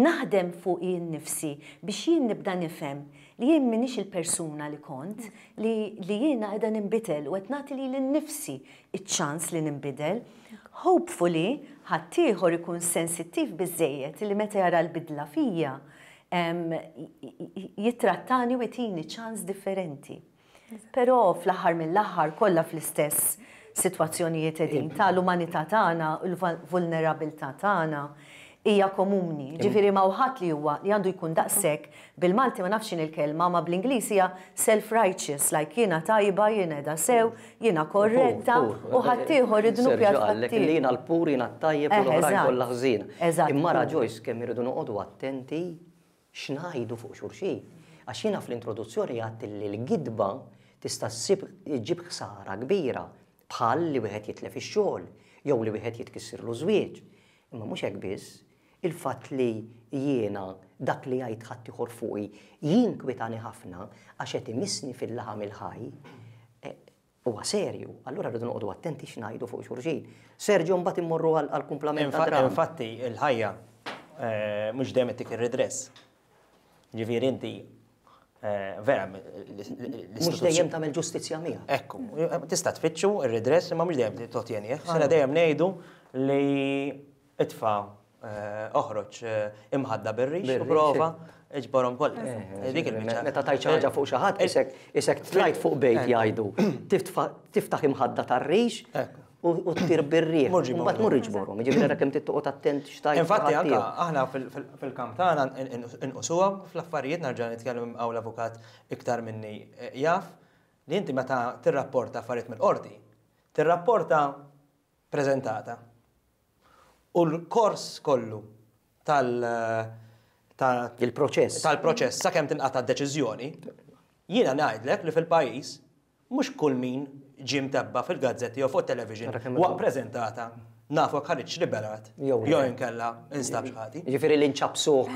[SPEAKER 7] naħdem fuqi nnifsi biex jien nibda nifhem li jien m'iniex il-persuna li kont, li jiena qiegħda ninbidel u qed nagħti lili nnifsi ċ-ċans li ninbidel. Hopefully ħaddieħor ikun sensittiv biżżejjed li meta jara l-bidla fija jittrattani u jtini ċans differenti. Però fl-aħħar mill-aħħar kollha fl-istess sitwazzjonijiet qegħdin ta' l-umanità tagħna, il-vulnerabilità tagħna hija komuni. Ġifieri ma hawn ħadd li huwa li għandu jkun daqshekk, bil-Malti ma nafx x'inhi l-kelma, ma bl-Ingliż hija self-righteous, like jiena tajba, jiena qiegħda sew, jiena korretta u ħaddieħor id-dnub
[SPEAKER 2] jgħid ħaddieħor. Li jiena l-pur, jiena t-tajjeb u l-oħrajn kollha ħżiena. Imma ara Joyce kemm irridu noqogħdu attenti x'ngħidu fuq xulxin. Għax jiena fl-introduzzjoni għedt li l-gidba tista' ssib iġġib ħsara kbira bħal li wieħed jitlef ix-xogħol jew li wieħed jitkissirlu żwieġ. Imma mhux hekk biss, il-fatt li jiena dak li jgħid ħaddieħor fuqi jinkwitani ħafna għax qed imissni fil-laħam il-ħaj, huwa serju. Allura rridu noqogħdu attenti x'ngħidu fuq xulxin. Sergio mbagħad immorru għall-kumplament tad-dramm.
[SPEAKER 4] Infatti il-ħajja mhux dejjem ittik ir-redress. Ġifieri inti eh, vera
[SPEAKER 2] Mhux dejjem tagħmel ġustizzja miegħek.
[SPEAKER 4] Ekku, tista' tfittxu ir-redress imma mhux dejjem totjenih. Sena dejjem ngħidu li itfa' eh, oħroġ eh, imħadda bir-rix u prova iġborhom kollha.
[SPEAKER 2] Dik il-biċċa. Meta tajt xi ħaġa fuq xi ħadd isek isek tlajt fuq bejt jgħidu. Tiftaħ imħadda tar-rix u ttir bir-riħ. Mbagħad mur iġborhom, jiġifieri ara kemm trid toqgħod attent x'tajt.
[SPEAKER 4] Infatti anke aħna fil-kamp tagħna inqusuha fl-affarijiet nerġa' nitkellem hawn l-avukat iktar minni jaf li inti meta tirrapporta affarijiet mill-qorti, tirrapporta preżentata. U l-kors kollu tal
[SPEAKER 2] Il-proċess.
[SPEAKER 4] Tal-proċess sakemm tinqata' d-deċiżjoni, jiena ngħidlek li fil-pajjiż Mhux kull min ġie mtebba' fil-gazzetti jew fuq it-television waqt preżentata nafu jekk ħariġx liberat jew inkella instabx ħati.
[SPEAKER 2] Jiġifieri li nċappsuh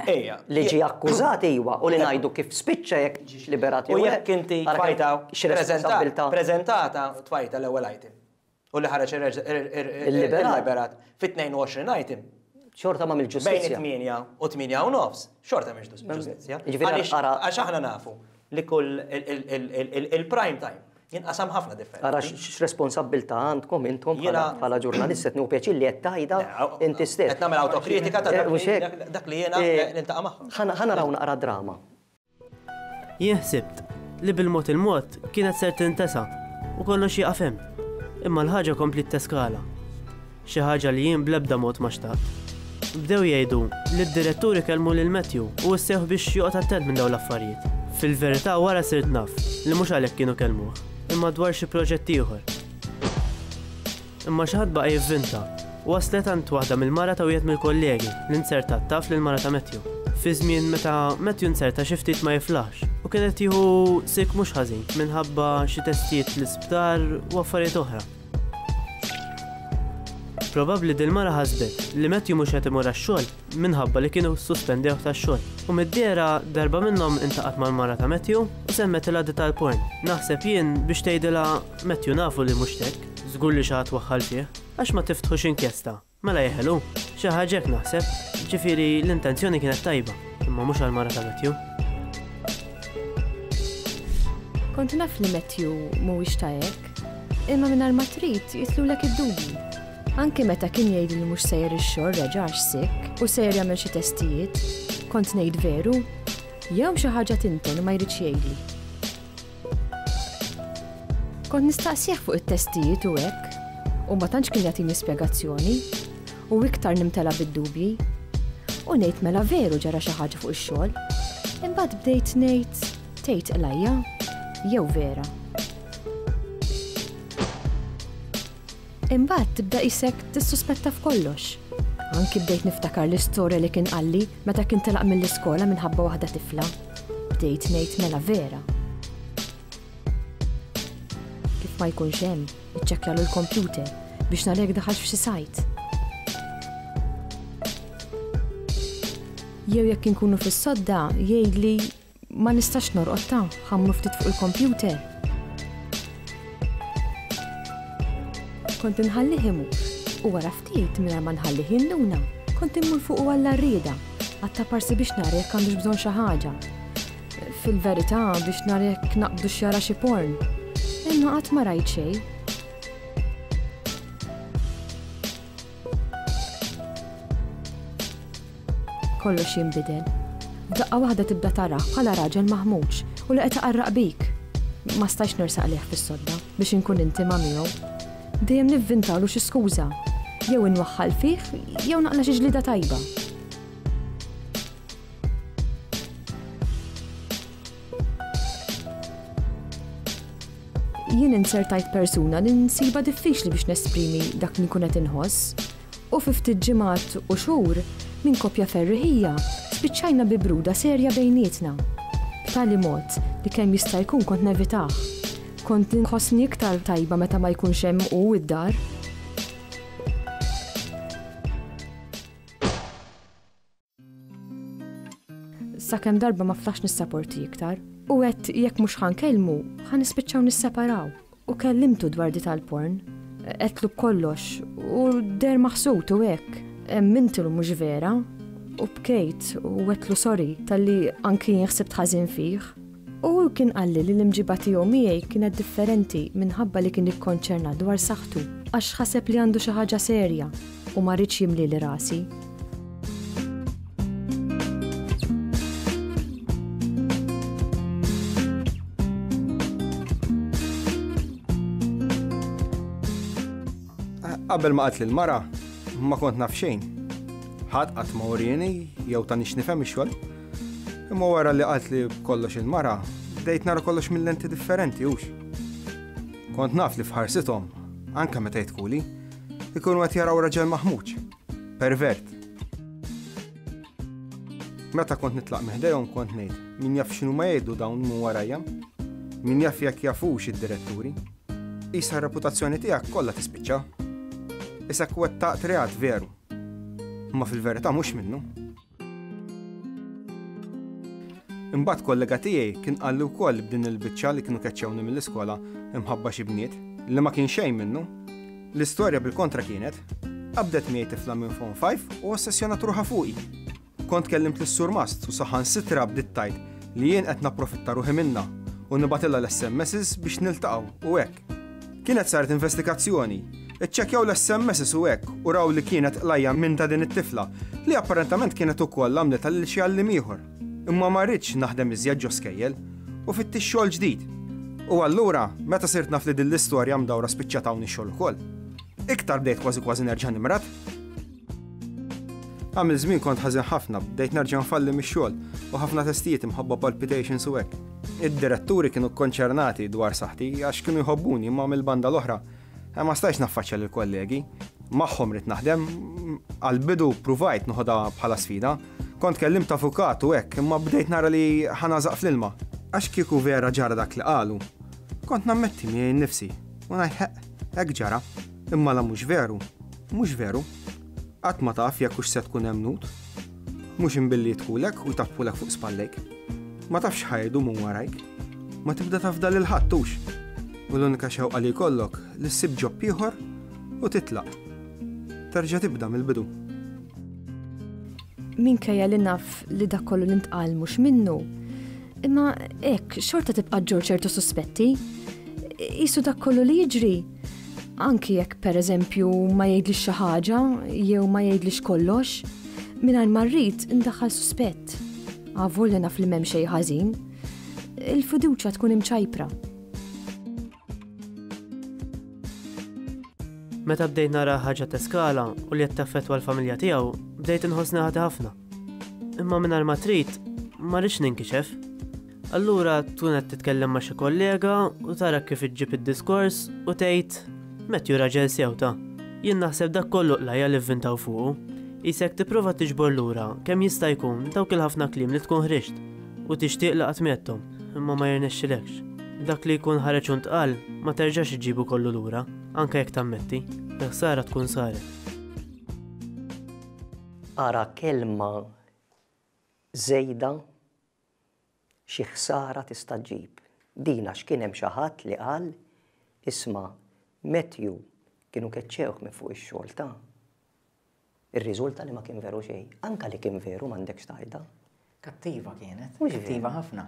[SPEAKER 2] li ġie akkużat iwa u li ngħidu kif spiċċa jekk ġiex liberat
[SPEAKER 4] jew le. U jekk inti tfajta preżentata tfajta l-ewwel item u li ħareġ il-liberat fit-22 item.
[SPEAKER 2] Xorta ma mill-ġustizzja.
[SPEAKER 4] Bejn it-8 u 8 u nofs, xorta mhix ġustizzja. Għax aħna nafu li kull il-prime time jinqasam ħafna differenti.
[SPEAKER 2] Ara x'responsabbiltà għandkom intom bħala ġurnalist qed nieħu pjaċir li qed tgħidha inti stess.
[SPEAKER 4] Qed nagħmel awtokritika ta' eh, dak li jiena eh, niltaqa' magħhom.
[SPEAKER 2] Ħa naraw naqra drama.
[SPEAKER 3] Jien ħsibt li bil-mod il-mod kienet ser tintesa u kollox jieqaf hemm. Imma l-ħaġa kompliet teskala. Xi ħaġa li jien bl-ebda mod ma xtaqt. Bdew jgħidu li d-direttur ikellmu lil Matthew u wissewh biex joqgħod attent minn dawn l-affarijiet. Fil-verità wara sirt naf li mhux għalhekk kienu kellmuh, imma dwar xi proġett ieħor. Imma xi ħadd baqa' jivvinta u waslet għand waħda mill-mara ta' wieħed mill-kollegi li nzertat taf lill-mara ta' Matthew. Fi żmien meta Matthew nzerta xi ftit ma jiflaħx u kien qed jieħu sick mhux ħażin minħabba xi testijiet l-isptar u affarijiet oħra. Probabbli dil-mara ħasbet li Matthew mhux qed imur għax-xogħol minħabba li kienu ssuspendewh tax-xogħol. U mid-dehra darba minnhom intaqgħet mal-mara ta' Matthew u semmetilha di tal-porn. Naħseb jien biex tgħidilha Matthew nafu li mhux t'hekk, żgur li xi ħadd waħħal fih. Għax ma tiftħux inkjesta? Mela jeħel hu. Xi ħaġa hekk naħseb. Ġifieri l-intenzjoni kienet tajba, imma mhux għall-mara ta' Matthew.
[SPEAKER 8] Kont naf li Matthew mhuwiex ta' hekk, imma mingħajr ma trid jitlulek id-dubji. Anki meta kien jgħidli li mhux sejjer ix-xogħol reġa' għax sick u sejjer jagħmel xi testijiet, kont ngħid veru? Jew xi ħaġa tinten u ma jridx jgħidli. Kont nistaqsih fuq it-testijiet u hekk, u ma tantx kien jagħtini spjegazzjoni, u iktar nimtela bid-dubji. U ngħid mela veru ġara xi ħaġa fuq ix-xogħol. Imbagħad bdejt ngħid tgħid qlajja jew vera. Imbagħad tibda qisek tissuspetta f'kollox. Anki bdejt niftakar l-istorja li kien qalli meta kien telaq mill-iskola minħabba waħda tifla. Bdejt ngħid mela vera. Kif ma jkunx hemm, iċċekkjalu l-kompjuter biex nara jekk daħalx f'xi sajt. Jew jekk inkunu fis-sodda jgħidli Ma nistax norqod ta, ħa mmur ftit fuq il-kompjuter. Kont inħallih imur u wara ftit mingħajr ma nħallih jinduna, kont immur fuqu għall-għarrieda, għat-taparsi biex nara jekk għandux bżonn xi ħaġa. Fil-verità biex nara jekk naqbdux jara xi porn. Imma qatt ma rajt xejn. Kollox jinbidel. F'daqqa waħda tibda tarah bħala raġel maħmuġ u li qed iqarraq bik. Ma stajtx nersaq lejh fis-sodda biex inkun intima miegħu. Dejjem nivvintalu xi skuża. Jew inwaħħal fih jew naqla' xi ġlieda tajba. Jien inzertajt persuna li nsibha diffiċli biex nesprimi dak li nkun qed inħoss. U fi ftit ġimgħat u xhur, minn koppja ferriħija, spiċċajna bi bruda serja bejnietna. B'tali mod li kemm jista' jkun kont nevitah. Kont inħossni iktar tajba meta ma jkunx hemm hu d-dar. Sakemm darba ma flaħx nissaporti iktar. U għedt jekk mhux ħa nkellmu, ħa nispiċċaw nisseparaw. U kellimtu dwar di tal-porn. Għedtlu b'kollox u deher maħsud u hekk. Emmintilu mhux vera. U bkejt u għedtlu sorry talli anki jien ħsibt ħażin fih. U hu kien qalli li l-imġiba tiegħu miegħi kienet differenti minħabba li kien ikkonċernat dwar saħħtu għax ħaseb li għandu xi ħaġa serja u ma riedx jimlieli rasi.
[SPEAKER 9] Qabel ma qatli l-mara, ma kont naf xejn. Ħadd qatt ma urieni jew tani x'nifhem ix-xogħol. Imma wara li qaltli b'kollox il-mara, bdejt nara kollox minn lenti differenti hux. Kont naf li f'ħarsithom, anke meta jidħkuli, ikunu qed jaraw raġel maħmuġ, pervert. Meta kont nitlaq minn ħdejhom kont ngħid, min jaf x'inhuma jgħidu dawn minn warajja? Min jaf jekk jafux id-diretturi? Qisha r-reputazzjoni tiegħek kollha tispiċċa. Isek wettaqt reat veru. Imma fil-verità mhux minnu. Imbagħad kollega tiegħi kien qalli wkoll b'din il-biċċa li kienu keċċewni mill-iskola imħabba xi bniet, li ma kien xejn minnu. L-istorja bil-kontra kienet. Qabdet miegħi tifla minn Form 5 u ossessjonat ruħha fuqi. Kont kellimt lis-surmast u saħansitra bdiet tgħid li jien qed napprofitta ruħi minnha u nibgħatilha l-SMSs biex niltaqgħu u hekk. Kienet saret investigazzjoni. Iċċekkjaw l-SMSs u hekk u raw li kienet qlajja minn ta' din it-tifla li apparentament kienet ukoll għamlitha lil xi għalliem ieħor. Imma ma ridtx naħdem iżjed ġo skejjel u fittixt xogħol ġdid. U allura, meta sirt naf li din l-istorja mdawra spiċċat hawn ix-xogħol ukoll. Iktar bdejt kważi kważi nerġa' nimrad. Għamil żmien kont ħażin ħafna, bdejt nerġa' nfalli mix-xogħol u ħafna testijiet imħabba palpitations u hekk. Id-diretturi kienu kkonċernati dwar saħħti għax kienu jħobbuni imma mill-banda l-oħra eh, ma stajtx naffaċċja lill-kollegi. Magħhom ridt naħdem, għall-bidu pruvajt noħodha bħala sfida. Kont kellimt avukat u hekk, imma bdejt nara li ħa nagħżaq fl-ilma. Għax kieku vera ġara dak li qalu, kont nammetti miegħi nnifsi u ngħid ħeqq, hekk ġara. Imma la mhux veru, mhux veru. Qatt ma taf jekk hux se tkun emmnut. Mhux imbilli jidħulek u jtappulek fuq spallejk. Ma tafx x'ħa jgħidu minn warajk. Ma tibda tafda lil ħadd hux. U l-unika xewqa li jkollok li ssib ġob ieħor u titlaq. Terġa' tibda mill-bidu.
[SPEAKER 8] Minkejja li naf li dak kollu li ntqal mhux minnu, imma hekk xorta tibqa' ġġorr ċertu suspetti. Qisu dak kollu li jiġri, anki jekk pereżempju ma jgħidlix xi ħaġa jew ma jgħidlix kollox, mingħajr ma rrid indaħħal suspett. Avolja naf li m'hemm xejn ħażin, il-fiduċja tkun imċajpra.
[SPEAKER 3] Meta bdejt nara ħaġa teskala u li qed taffettwa l-familja tiegħu, bdejt inħossni ħati ħafna. Imma mingħajr ma trid, ma rridx ninkixef. Allura tkun qed titkellem ma' xi kollega u tara kif iġġib id-diskors u tgħid Matthew raġel sew ta. Jien naħseb dak kollu qlajja li vvintaw fuqu. Qisek tipprova tiġbor lura kemm jista' jkun dawk il-ħafna kliem li tkun ħriġt u tixtieq li qatt m'għedthom, imma ma jirnexxilekx. Dak li jkun ħareġ u ntqal ma terġax iġġibu kollu lura. Anke jekk tammetti, il-ħsara tkun saret.
[SPEAKER 2] Ara kelma żejda xi ħsara tista' ġġib. Din għax kien hemm xi ħadd li qal, isma' Matthew kienu keċċewh minn fuq ix-xogħol ta'. Irriżulta li ma kien veru xejn. Anke li kien veru m'għandekx tgħidha.
[SPEAKER 5] Kattiva kienet, kattiva ħafna.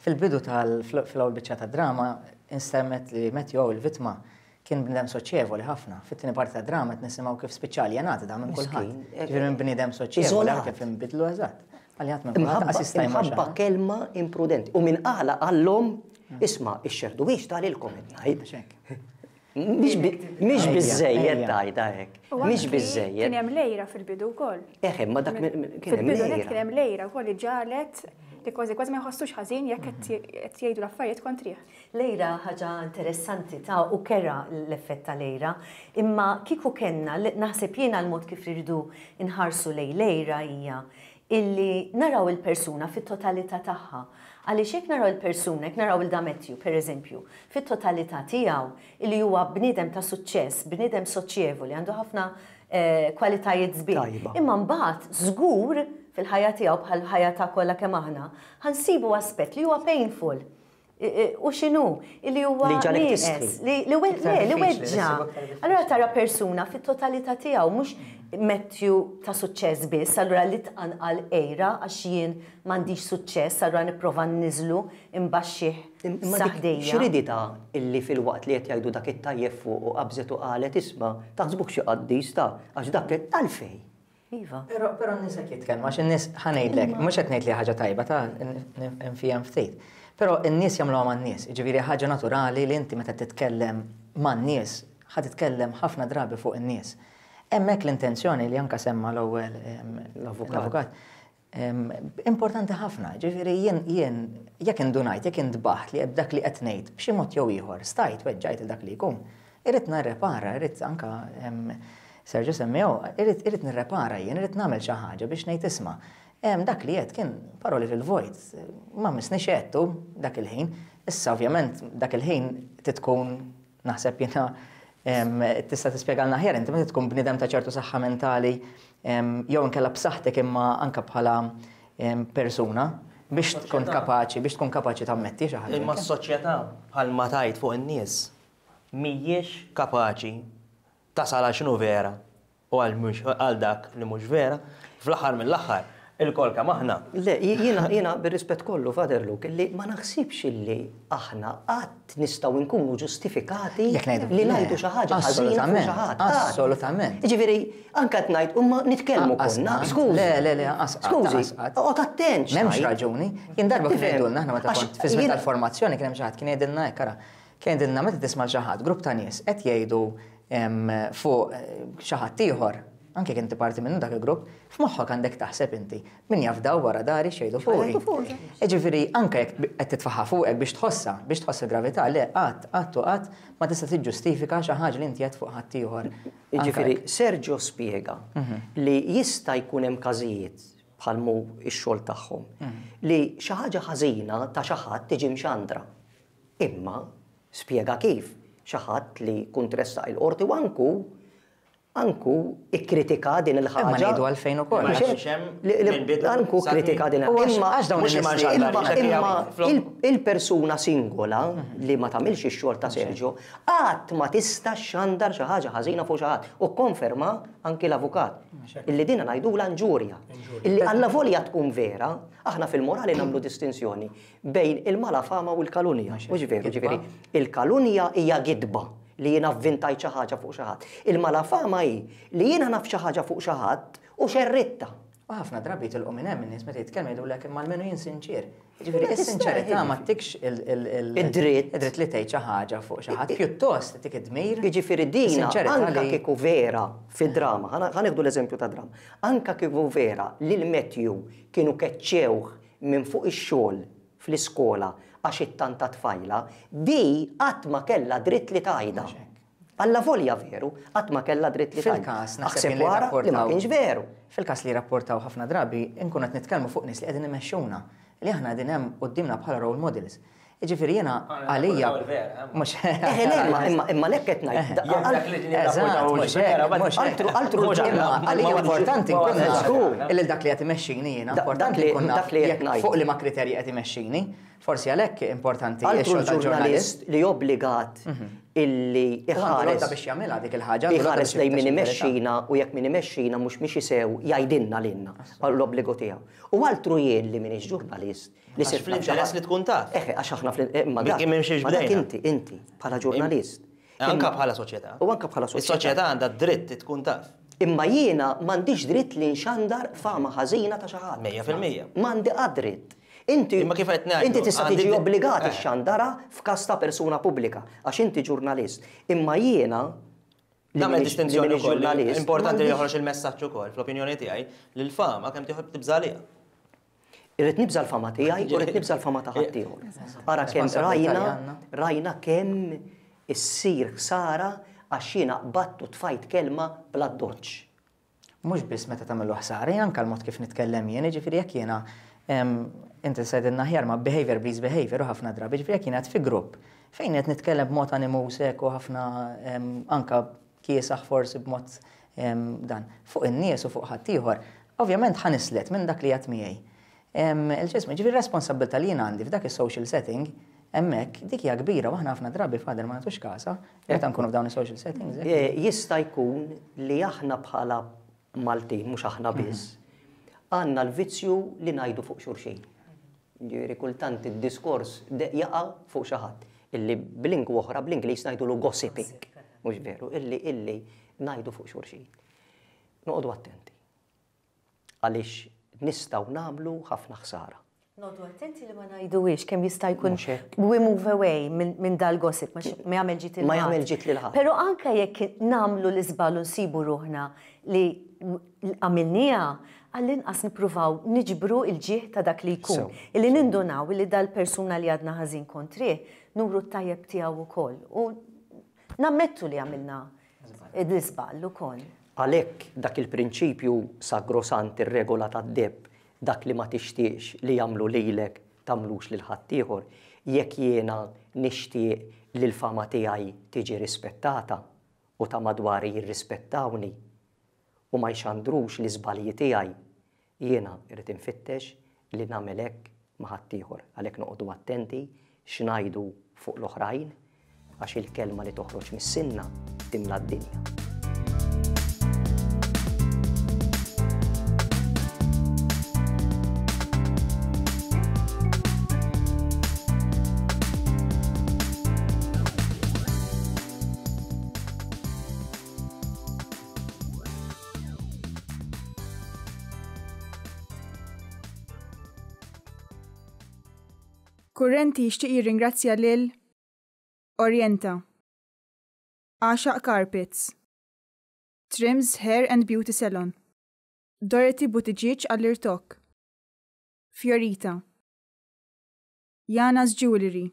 [SPEAKER 5] Fil-bidu tal fl-ewwel biċċa tad-drama instemmet li Matthew il-vittma kien bniedem soċjevoli ħafna. Fit-tieni parti tad-drama qed nisimgħu kif spiċċa aljenat da minn kulħadd. Ġifieri minn bniedem soċjevoli kif inbidlu eżatt. Aljenat minn kulħadd qas jista' jmur.
[SPEAKER 2] Imħabba kelma imprudenti. U min qala qallhom isma' ixxerdu biex talilkom qed ngħid. Mhix biżejjed tgħidha hekk. Mhix biżejjed.
[SPEAKER 1] Kien hemm lejra fil-bidu wkoll.
[SPEAKER 2] Eħe, ma dak
[SPEAKER 1] kien hemm lejra. Kien hemm lejra wkoll li ġalet li kważi kważi ma jħossux ħażin jekk qed jgħidu l-affarijiet kontrih.
[SPEAKER 7] Lejra ħaġa interessanti ta' u kera l-effett ta' lejra, imma kieku kellna naħseb jiena l-mod kif irridu nħarsu lejn lejra hija illi naraw il-persuna fit-totalità tagħha. Għaliex jekk naraw il-persuna, jekk naraw 'il da Matthew, per eżempju, fit-totalità tiegħu, illi huwa bniedem ta' suċċess, bniedem soċjevoli, għandu ħafna kwalitajiet sbieħ. Imma mbagħad żgur fil-ħajja tiegħu bħall-ħajja ta' kollha kemm aħna, ħa nsibu aspett li huwa painful. U x'inhu? Illi huwa nieqes, li weġġa'. Allura tara persuna fit-totalità tiegħu, mhux Matthew ta' suċċess biss, allura li tqanqal għira għax jien m'għandix suċċess, allura nipprova nniżżlu, inbaxxih sa ħdejja.
[SPEAKER 2] X'riditha illi filwaqt li qed jgħidu dak it-tajjeb fuqu qabżet u qalet isma' taħsbuhx xi qaddis ta' għax dak għalfejn?
[SPEAKER 7] Iva.
[SPEAKER 5] Però però n-nies hekk jitkellmu għax in-nies ħa ngħidlek, mhux qed ngħid li ħaġa tajba ta' nfiha ftit. Però n-nies jagħmluha man-nies, jiġifieri ħaġa naturali li inti meta titkellem man-nies ħa titkellem ħafna drabi fuq in-nies. Hemmhekk l-intenzjoni li anke semma l-ewwel l-avukat importanti ħafna, ġifieri jien jien jekk indunajt, jekk intbaħt li b'dak li qed ngħid b'xi mod jew ieħor stajt weġġajt il dak li jkun, irrid nirrepara, irrid anke Sergio semmew, irrid irrid nirrepara jien, irrid nagħmel xi ħaġa biex ngħid isma' dak li għedt kien paroli fil-vojt, ma missnix għedtu dak il-ħin. Issa ovvjament dak il-ħin trid tkun Naħseb jiena tista' tispjegalna aħjar inti meta tkun bniedem ta' ċertu saħħa mentali jew inkella b'saħħtek imma anke bħala persuna biex tkun kapaċi biex tkun kapaċi tammetti xi ħaġa.
[SPEAKER 4] Imma s-soċjetà bħalma tgħid fuq in-nies mhijiex kapaċi tasal għal x'inhu vera. U għal mhux għal dak li mhux vera, fl-aħħar mill-aħħar, ilkoll kemm aħna.
[SPEAKER 2] Le, jiena jiena bir-rispett kollu, Father Luke, li ma naħsibx illi aħna qatt nistgħu nkunu ġustifikati li ngħidu xi ħaġa ħażina fuq xi ħadd.
[SPEAKER 5] Assolutament.
[SPEAKER 2] Jiġifieri, anke qed ngħid, imma nitkellmu konna, skużi.
[SPEAKER 5] Le, le, le, anqas qatt.
[SPEAKER 2] Skużi, oqgħod attent.
[SPEAKER 5] M'hemmx raġuni. Jien darba kien jgħidulna aħna meta kont fi żmien tal-formazzjoni kien hemm xi ħadd kien jgħidilna hekk ara. Kien jgħidilna meta tisma' xi ħadd, grupp ta' nies qed jgħidu fuq xi ħadd ieħor, anke jekk inti parti minnu dak il-grupp, f'moħħok għandek taħseb inti, min jaf daw wara dari x'jgħidu fuqi. Jiġifieri anke jekk qed titfaħħa fuqek biex tħossha, biex tħoss il-gravità, le qatt, qatt u qatt ma tista' tiġġustifika xi ħaġa li inti għedt fuq ħaddieħor.
[SPEAKER 2] Jiġifieri Sergio spjega li jista' jkun hemm każijiet bħal mhu x-xogħol tagħhom li xi ħaġa ħażina ta' xi ħadd tiġi mxandra. Imma spjega kif xi ħadd li jkun tressaq il-Qorti u anku anku ikkritika din il-ħaġa.
[SPEAKER 5] Imma ngħidu għalfejn ukoll.
[SPEAKER 2] Anku kkritika din
[SPEAKER 5] Imma għax dawn
[SPEAKER 2] Imma il-persuna singola li ma tagħmilx ix-xogħol ta' Sergio qatt ma tista' xxandar xi ħaġa ħażina fuq xi ħadd. U kkonferma anki l-avukat illi dina ngħidulha inġurja. Illi allavolja tkun vera, aħna fil-morali nagħmlu distinzjoni bejn il-malafama u l-kalunja. Mhux veru, ġifieri, il-kalunja hija gidba li jiena vvintajt xi ħaġa fuq xi ħadd. Il-malafama hi li jiena naf xi ħaġa fuq xi ħadd u xerridtha.
[SPEAKER 5] U ħafna drabi jitilqu minn hemm in-nies meta jitkellmu jgħidulek imma almenu jien sinċier. Jiġifieri is-sinċerità ma ttikx
[SPEAKER 2] id-dritt
[SPEAKER 5] id-dritt li tgħid xi ħaġa fuq xi ħadd, pjuttost ttik id-dmir.
[SPEAKER 2] Jiġifieri dina anke kieku vera fid-drama, ħa nieħdu l-eżempju tad-drama, anke kieku vera lil Matthew kienu keċċewh minn fuq ix-xogħol fl-iskola għax ittanta tfajla, di qatt ma kellha dritt li tgħidha. Allavolja veru, qatt ma kellha dritt li tgħidha.
[SPEAKER 5] Fil-każ, naħseb
[SPEAKER 2] Aħseb
[SPEAKER 5] jien li
[SPEAKER 2] wara li ma
[SPEAKER 5] rrapportaw
[SPEAKER 2] kienx veru.
[SPEAKER 5] Fil-każ li jirrapportaw ħafna drabi, inkunu qed nitkellmu fuq nies li qegħdin imexxuna, li aħna qegħdin hemm quddiemna bħala role models. Jiġifieri jiena għalija mhux
[SPEAKER 2] Eħe le, imma imma imma lek qed ngħid.
[SPEAKER 4] Jekk dak li
[SPEAKER 5] Eżatt, mhux hekk, mhux hekk.
[SPEAKER 2] Altru altru
[SPEAKER 5] Imma għalija importanti nkun naf illi dak li qed imexxini jiena importanti nkun naf jekk fuq liema kriterji qed imexxini. Forsi għalhekk importanti
[SPEAKER 2] x-xogħol tal-ġurnalist li obbligat illi
[SPEAKER 5] iħares biex jagħmilha dik il-ħaġa.
[SPEAKER 2] Iħares lejn min imexxina u jekk min imexxina mhux miexi sew jgħidilna lilna l-obbligu tiegħu. U altru jien li m'iniex ġurnalist
[SPEAKER 4] Li sir fl-interess li tkun taf.
[SPEAKER 2] Eħe, għax aħna fl imma dak. Ma dak inti, inti, bħala ġurnalist.
[SPEAKER 4] Anka bħala soċjetà.
[SPEAKER 2] U anka bħala soċjetà.
[SPEAKER 4] Is-soċjetà għandha dritt tkun taf.
[SPEAKER 2] Imma jiena m'għandix dritt li nxandar fama ħażina ta' xi ħadd.
[SPEAKER 4] 100%.
[SPEAKER 2] M'għandi qatt dritt. Inti
[SPEAKER 4] Imma kif qed ngħidu,
[SPEAKER 2] Inti tista' tiġi obbligat
[SPEAKER 4] eh.
[SPEAKER 2] ixxandarha f'każ ta' persuna pubblika, għax inti ġurnalist. Imma jiena
[SPEAKER 4] Nagħmel distinzjoni wkoll. Importanti li joħroġ il-messaġġ ukoll, fl-opinjoni tiegħi, li l-fama kemm tieħu tibża' għaliha.
[SPEAKER 2] Irrid nibża' l-fama tiegħi u rrid nibża' l-fama ta' ħaddieħor. Ara kemm rajna, rajna kemm issir ħsara għax jiena qbadt u tfajt kelma bl-addoċċ.
[SPEAKER 5] Mhux biss meta tagħmillu ħsara, jien anke l-mod kif nitkellem jien, jiġifieri jekk jiena inti se tgħidilna aħjar ma behavior breeds behavior u ħafna drabi, jiġifieri jekk jiena qed fi grupp fejn qed nitkellem b'mod animuż hekk u ħafna anke kiesaħ forsi b'mod dan, fuq in-nies u fuq ħaddieħor, ovvjament ħa nislet minn dak li għad miegħi. Il-ġismu, ġifieri r-responsabbiltà li jien għandi f'dak is-social setting, hemmhekk, dik hija kbira u aħna ħafna drabi Father ma nagħtux kasha meta nkunu f'dawn is-social settings.
[SPEAKER 2] Jista' jkun li aħna bħala Maltin, mhux aħna biss, għandna l-vizzju li ngħidu fuq xulxin. Jiġifieri kultant id-diskors jaqa' fuq xi ħadd, illi b'lingwa oħra bl-Ingliż ngħidulu gossiping, mhux veru, illi illi ngħidu fuq xulxin. Noqogħdu attenti. Għaliex nistgħu nagħmlu ħafna ħsara.
[SPEAKER 7] Noqogħdu attenti li ma ngħiduhiex kemm jista' jkun we move away minn dal-gossip ma jagħmel ġid
[SPEAKER 2] Ma jagħmel ġid lil ħadd.
[SPEAKER 7] Però anke jekk nagħmlu l-iżball u nsibu ruħna li għamilniha, għall-inqas nippruvaw niġbru l-ġieħ ta' dak li jkun. Illi nindunaw illi dal-persuna li għadna ħażin kontrih, nuru t-tajjeb tiegħu wkoll. U nammettu li għamilna l-iżball ukoll.
[SPEAKER 2] Għalhekk dak il-prinċipju sagrosant, ir-regola tad-deheb, dak li ma tixtieqx li jagħmlu lilek tagħmlux lil ħaddieħor, jekk jiena nixtieq li l-fama tiegħi tiġi rispettata u ta' madwari jirrispettawni, u ma jxandrux l-iżbalji tiegħi, jiena rrid infittex li nagħmel hekk ma' ħaddieħor. Għalhekk noqogħdu attenti x'ngħidu fuq l-oħrajn għax il-kelma li toħroġ mis-sinna timla d-dinja.
[SPEAKER 1] Kurrenti jixtieq jirringrazzja lil Orienta, Għaxaq Carpets, Trims Hair and Beauty Salon, Dorothy Buttigieg għall-irtokk, Fiorita, Jana's Jewellery.